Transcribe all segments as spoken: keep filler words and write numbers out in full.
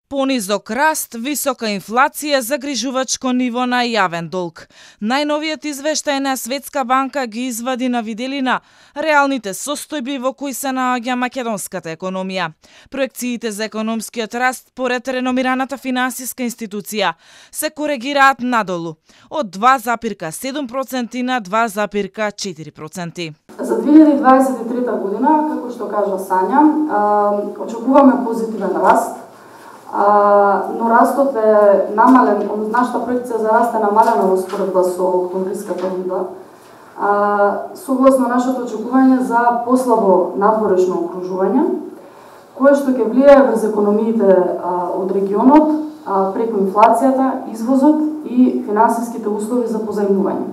Понизок раст, висока инфлација, загрижувачко ниво на јавен долг. Најновиот извештај на Светска банка ги извади на виделина реалните состојби во кои се наоѓа македонската економија. Проекциите за економскиот раст поред реномираната финансиска институција се коригираат надолу од два запирка седум проценти на два запирка четири проценти. За две илјади дваесет и трета година, како што кажа Сања, очекуваме позитивен раст. А, но растот е намален, нашата проекција за раст е намалена во споредба со октомвриската рунда. А, согласно нашето очекување за послабо надворешно окружување, кое што ќе влијае врз економиите а, од регионот, а, преку инфлацијата, извозот и финансиските услови за позајмување.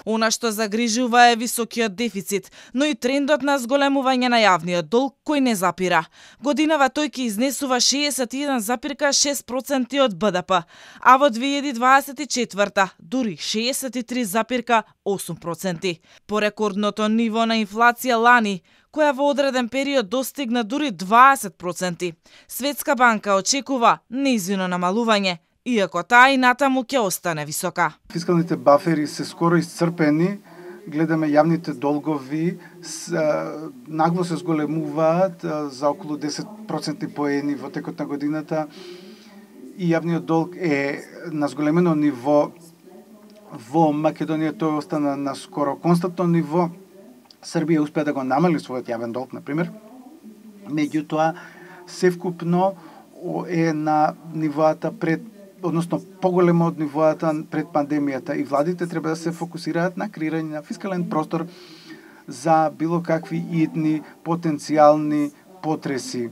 Она што загрижува е високиот дефицит, но и трендот на зголемување на јавниот долг кој не запира. Годинава тој ќе изнесува шеесет и еден запирка шест проценти од Б Д П, а во две илјади дваесет и четврта дури шеесет и три запирка осум проценти. По рекордното ниво на инфлација лани, која во одреден период достигна дури дваесет проценти, Светска банка очекува нејзино намалување, иако таа и натаму ќе остане висока. Фискалните бафери се скоро исцрпени, гледаме јавните долгови с, нагло се зголемуваат за околу десет проценти поени во текот на годината и јавниот долг е на зголемено ниво. Во Македонија тој остана на скоро константно ниво. Србија успеа да го намали својот јавен долг, например. Меѓутоа, севкупно е на нивоата пред односно поголемо од нивоата пред пандемијата и владите треба да се фокусираат на креирање на фискален простор за било какви идни потенцијални потреси.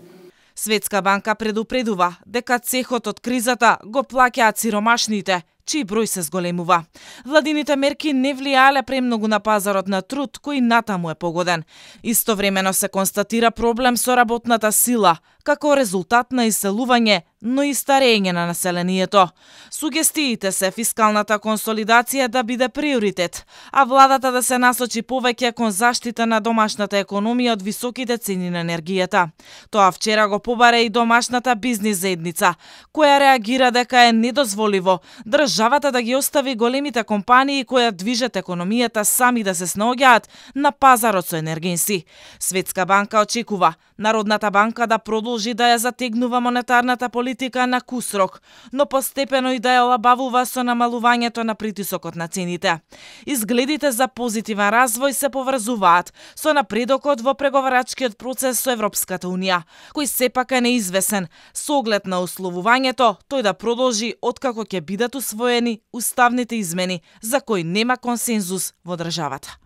Светска банка предупредува дека цехот од кризата го плаќаат сиромашните, чиј број се зголемува. Владините мерки не влијаеле премногу на пазарот на труд, кој натаму е погоден. Истовремено се констатира проблем со работната сила, како резултат на иселување, но и старење на населението. Сугестиите се фискалната консолидација да биде приоритет, а владата да се насочи повеќе кон заштита на домашната економија од високите цени на енергијата. Тоа вчера го побаре и домашната бизнис заедница, која реагира дека е недозволиво државата да ги остави големите компании кои движат економијата сами да се снаоѓаат на пазарот со енергенси. Светска банка очекува Народната банка да продолжи да ја затегнува монетарната политика на кусрок, но постепено и да ја олабавува со намалувањето на притисокот на цените. Изгледите за позитивен развој се поврзуваат со напредокот во преговарачкиот процес со Европската унија, кој сепак е неизвесен со оглед на условувањето тој да продолжи откако ќе бидат усвоени уставните измени за кои нема консензус во државата.